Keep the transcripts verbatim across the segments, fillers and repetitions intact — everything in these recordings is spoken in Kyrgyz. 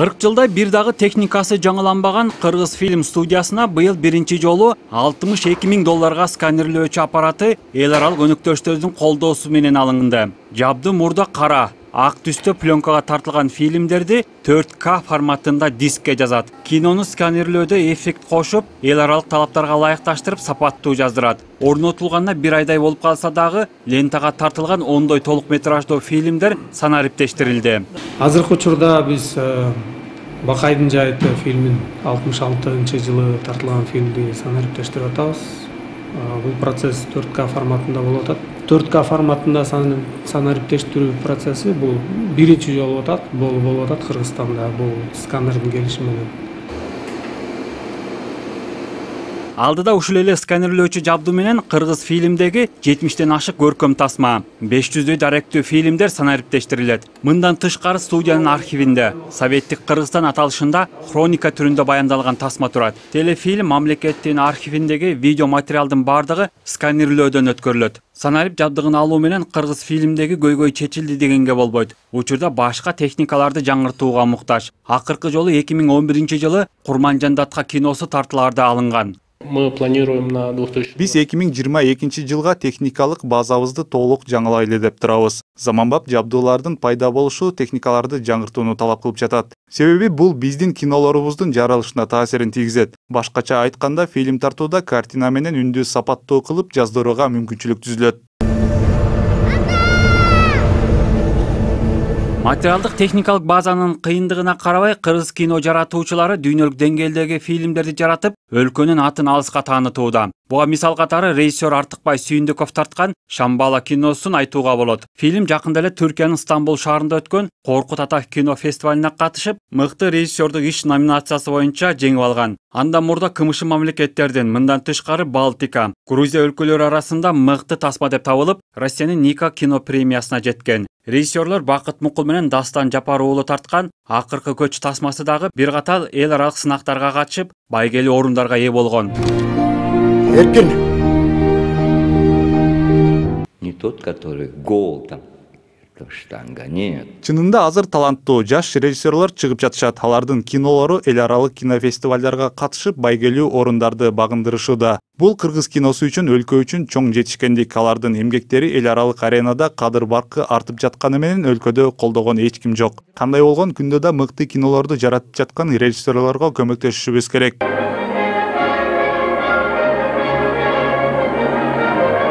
кырк жылда бир дагы техникасы жаңыланбаган Кыргыз фильм студиясына быйыл биринчи жолу алтымыш эки миң долларга сканерлөөчү аппараты эл аралык өнөктөштөрдүн колдоосу менен алынды. Жабдуу мурда кара, ак түстө пленкага тартылган фильмдерди төрт К форматында дискке жазат. Кинону сканерлөөдө эффект кошуп, эл аралык талаптарга ылайыкташтырып сапаттуу жаздырат. Орнотулганына бир айдай болуп калса дагы, лентага тартылган ондой толук метраждуу фильмдер санариптештирилди. Азыркы учурда биз Бакайдын жайыты фильмин алтымыш алтынчы жылы тартылган фильмди санариптештирип атабыз. Бул процесс төрт К форматында болуп атат. төрт К форматында санариптештирүү процесси бул биринчи жолу болуп атат. Болуп атат Кыргызстанда бул сканердин келиши менен. Алдыда ушул эле сканерлөөчү жабдуу менен Кыргыз фильмдеги жетимиштен ашык көркөм тасма, беш жүздөй даректүү фильмдер санариптештирилет. Мындан тышкары студиянын архивинде Советтик Кыргызстан аталышында хроника түрүндө баяндалган тасма турат. Телефильм мамлекеттин архивиндеги видео материалдын бардыгы сканерлөөдөн өткөрүлөт. Санарип жабдыгын алуу менен Кыргыз фильмдеги көйгөй чечилди дегенге болбойт. Учурда башка техникаларды жаңыртууга муктаж. Акыркы жолу эки миң он биринчи жылы Курманжан Датка киносу тартылаарда алынган. Мы планируем на две тысячи. Биз эки миң жыйырма экинчи жылга техникалык базабызды толук жаңылайлы деп турабыз. Заманбап жабдуулардын пайда болушу техникаларды жаңыртууну талап кылып жатат. Себеби бул биздин кинолорубуздун жаралышына таасирин тийгизет. Башкача айтканда, фильм тартууда картина менен үндү сапаттуу кылып жаздырууга мүмкүнчүлүк түзүлөт. Материалдык техникалык базанын кыйындыгына карабай, кыргыз кино жаратуучулары дүйнөлүк деңгээлдеги фильмдерди жаратып, өлкөнүн атын алыска таанытууда. Буга мисал катары режиссер Артыкбай Сүйүндүков тарткан Шамбала киносун айтууга болот. Фильм жакында эле Түркиянын Стамбул шаарында өткөн Коркут Ата кино фестивалине катышып, мыкты режиссердук иш номинациясы боюнча жеңип алган. Андан мурда кымшы мамлекеттердин, мындан тышкары Балтика, Грузия өлкөлөрү арасында мыкты тасма деп табылып, Россиянын Ника кино премиясына жеткен. Режиссерлор Бакыт Мукул менен Дастан Жапар уулу тарткан Акыркы көч тасмасы дагы бир катар эл аралык сынактарга катышып, байгелүү орундарга ээ болгон. Эркин. Не тот, который гол там. Штанга, нет. Чынында азыр таланттуу жаш режиссерлор чыгып жатышат. Алардын кинолору эл аралык кинофестивалдарга катышып, байгелүү орундарды багындырышууда. Бул кыргыз киносу үчүн, өлкө үчүн чоң жетишкендик. Алардын эмгектери эл аралык аренада кадыр баркы артып жатканы менен өлкөдө колдогон эч ким жок. Кандай болгон күндө да мыкты кинолорду жаратып жаткан режиссерлорго көмөктөшүшүбүз керек.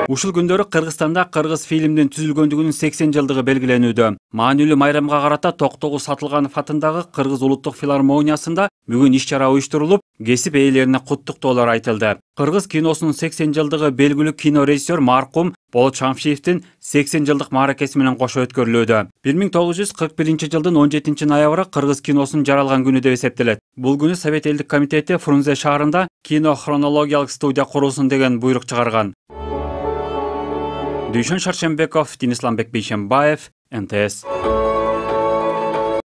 Ушул күндөрү Кыргызстанда кыргыз фильмдин түзүлгөндүгүнүн сексен жылдыгы белгиленүүдө. Маанилүү майрамга карата Токтогул Сатылганов атындагы Кыргыз улуттук филармониясында бүгүн иш-чара уюштурулуп, кесип ээлерине куттуктоолор айтылды. Кыргыз киносунун сексен жылдыгы белгилүү кино режиссер маркум Болот Шамшиевдин сексен жылдык мааракеси менен кошо өткөрүлүүдө. бир миң тогуз жүз кырк биринчи жылдын он жетинчи ноябры кыргыз киносунун жаралган күнү деп эсептелет. Бул күнү Совет элдик комитети Фрунзе шаарында кино хронологиялык студия курулсун деген буйрук чыгарган. Дүйшөн Шаршембеков, Денис Ламбек Бейшембаев, Н Т С.